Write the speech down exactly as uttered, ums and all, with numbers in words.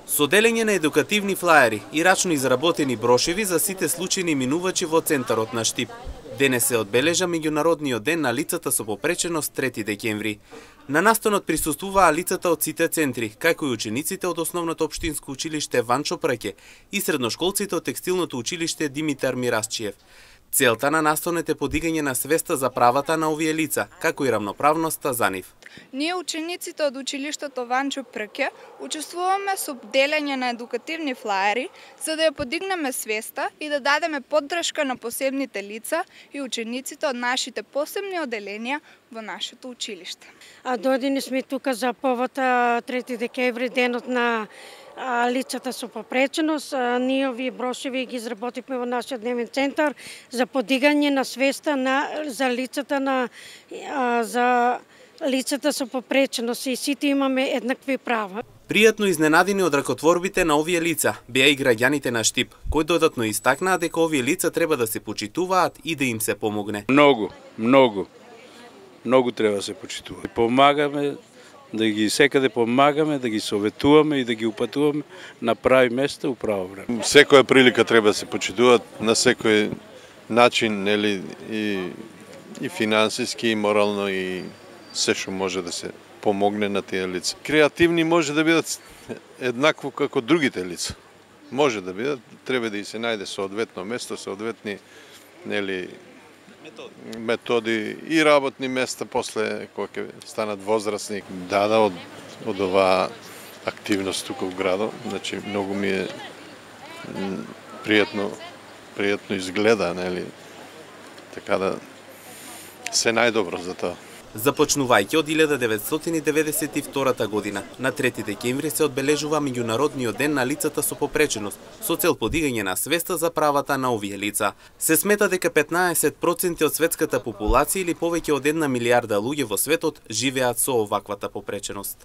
Со делење на едукативни флаери и рачно изработени брошеви за сите случајни минувачи во центарот на Штип. Денес се одбележа меѓународниот ден на лицата со попреченост трети декември. На настанот присуствуваа лицата од сите центри, како и учениците од Основното општинско училиште Ванчо Прке и средношколците од Текстилното училиште Димитар Мирасчиев. Целта на настанот е подигање на свеста за правата на овие лица, како и рамноправноста за нив. Ние, учениците од училиштето Ванчо Прке, учествуваме со делење на едукативни флаери, за да ја подигнеме свеста и да дадеме поддршка на посебните лица и учениците од нашите посебни оделенија во нашето училиште. А дојдени сме тука за повод трети декември, денот на лицата со попреченост. Ние овие брошеви ги изработивме во нашиот дневен центар за подигање на свеста на за лицата на за лицата со попреченост и сите имаме еднакви права. Пријатно изненадени од ракотворбите на овие лица беа и граѓаните на Штип, кои додатно истакнаа дека овие лица треба да се почитуваат и да им се помогне. Многу, многу, многу треба да се почитува. Помагаме, да ги секаде помагаме, да ги советуваме и да ги упатуваме на прави места у право време. Секоја прилика треба да се почитуваат на секој начин, нели, и и финансиски, и морално, и се што може да се помогне на тие лица. Креативни може да бидат еднакво како другите лица. Може да бидат, треба да и се најде соодветно место, соодветни, нели, методи. методи и работни места после кога ќе станат возрастни. Да, да, од, од оваа активност тука во градот, значи многу ми е пријатно, пријатно изгледа, нели, така да се најдобро за тоа. Започнувајќи од илјада деветстотини деветдесет и втора година, на трети декември се одбележува меѓународниот ден на лицата со попреченост, со цел подигање на свеста за правата на овие лица. Се смета дека петнаесет проценти од светската популација или повеќе од една милијарда луѓе во светот живеат со оваквата попреченост.